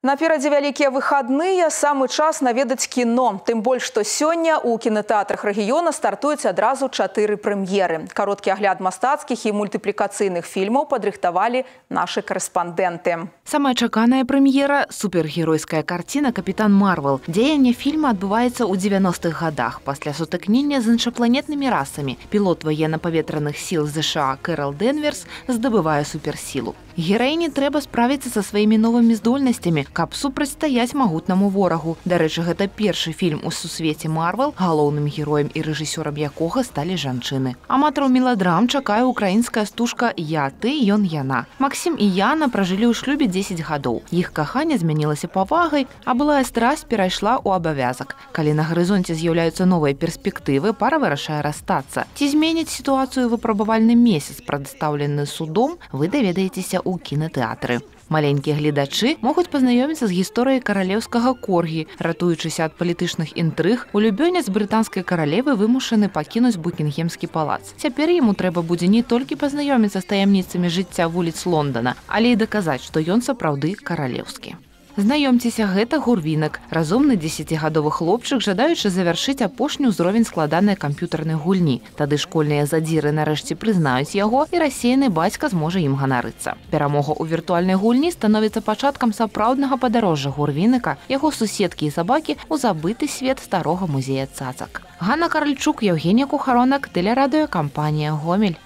Наперадзе вялікія выхадныя, самы час наведаць кіно. Тым больш, што сёння ў кінотэатрах рэгіёна стартуюць адразу 4 прэм'еры. Кароткі агляд мастацкіх і мультыплікацыйных фільмаў падрыхтавалі нашы карэспандэнты. Самая чаканая прэм'ера – супергеройская карціна «Капітан Марвел». Дзеянне фільма адбываецца ў 90-х гадах пасля сутыкнення з іншапланетнымі расамі. Пілот военно-паветраных сіл ЗША Кэрол Денверс здабывае суперсілу. Гераіні трэба справіцца са сваімі новымі здольнасцямі, каб супрацьстаяць магутнаму ворагу. Дарэчы, гэта першы фільм у сусвеце Марвел, галоўным героем і рэжысёрам якога сталі жанчыны. Аматараў меладрам чакае украінская стужка «Я, ты, ён, яна». Максім і Яна пражылі ў шлюбе 10 гадоў. Іх каханне змянілася павагай, а былая страсць перайшла ў абавязак. Калі на гарызонце з'яўляюцца новыя перспектывы, пара вырашае расстацца. Ці зменіць сітуацыю выпрабавальны месяц, прадстаўлены судом, вы даведаецеся ў кінотэатры. Маленькія гледачы могуць пазнаёміцца з гісторыяй каралеўскага коргі. Ратуючыся ад палітычных інтрыг, улюбёнец брытанскай каралевы вымушаны пакінуць Букінгемскі палац. Цяпер яму трэба будзе не толькі пазнаёміцца з таямніцамі жыцця вуліц Лондона, але і даказаць, што ён сапраўды каралеўскі. Знаёмцеся, гэта Гурвінак, разумны 10гадовы хлопчык, жадаючы завяршыць апошні ўзровень складанай камп'ютарнай гульні. Тады школьныя задзіры нарэшце прызнаюць яго, і рассеяны бацька зможа ім ганарыцца. Перамога ў віртуальнай гульні становіцца пачаткам сапраўднага падарожжа Гурвінака, яго суседкі і сабакі ў забыты свет старога музея цацак. Ганна Каральчук, Евгенія Кухаронак, тэлерадыёкампанія «Гомель».